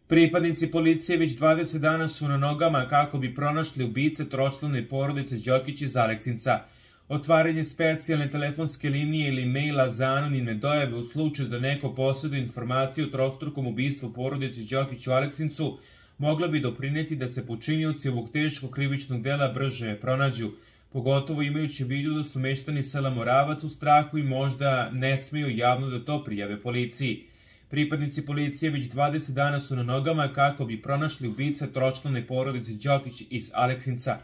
Pripadnici policije već 20 dana su na nogama kako bi pronašli ubice tročlane porodice Đokić iz Aleksinca. Otvaranje specijalne telefonske linije ili maila za anonimne dojave u slučaju da neko posjeduje informaciju o trostrukom ubistvu porodice Đokić u Aleksincu mogla bi doprineti da se počinioci ovog teškog krivičnog dela brže pronađu, pogotovo imajući u vidu da su meštani sela Moravac u strahu i možda ne smeju javno da to prijave policiji. Pripadnici policije već 20 dana su na nogama kako bi pronašli ubice tročlane porodice Đokić iz Aleksinca.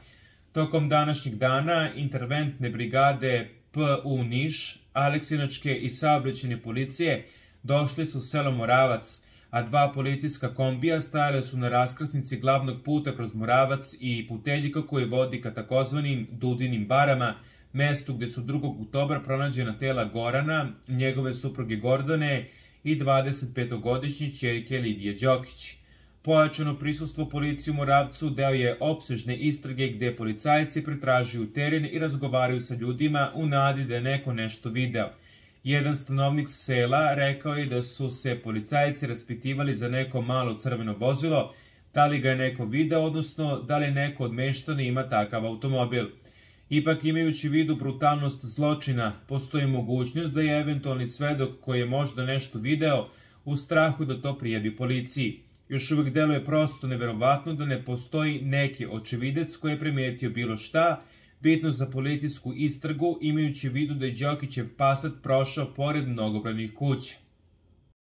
Tokom današnjeg dana interventne brigade PU Niš, Aleksinačke i saobraćajne policije došli su u selo Moravac, a dva policijska kombija stajale su na raskrsnici glavnog puta kroz Moravac i puteljika koji vodi ka takozvanim Dudinim barama, mestu gde su 2. oktobra pronađena tela Gorana, njegove supruge Gordane i 25-godišnje ćerke Lidije Đokić. Pojačano prisustvo policije u Moravcu deo je opsežne istrage gde policajci pretražuju teren i razgovaraju sa ljudima u nadi da je neko nešto video. Jedan stanovnik sela rekao je da su se policajci raspitivali za neko malo crveno vozilo, da li ga je neko video, odnosno da li neko od meštana ima takav automobil. Ipak, imajući u vidu brutalnost zločina, postoji mogućnost da je eventualni svedok koji je možda nešto video u strahu da to prijavi policiji. Još uvijek deluje prosto neverovatno da ne postoji neki očevidec koji je primetio bilo šta, bitno za policijsku istragu, imajući u vidu da je Đokićev Passat prošao pored mnogobranih kuća.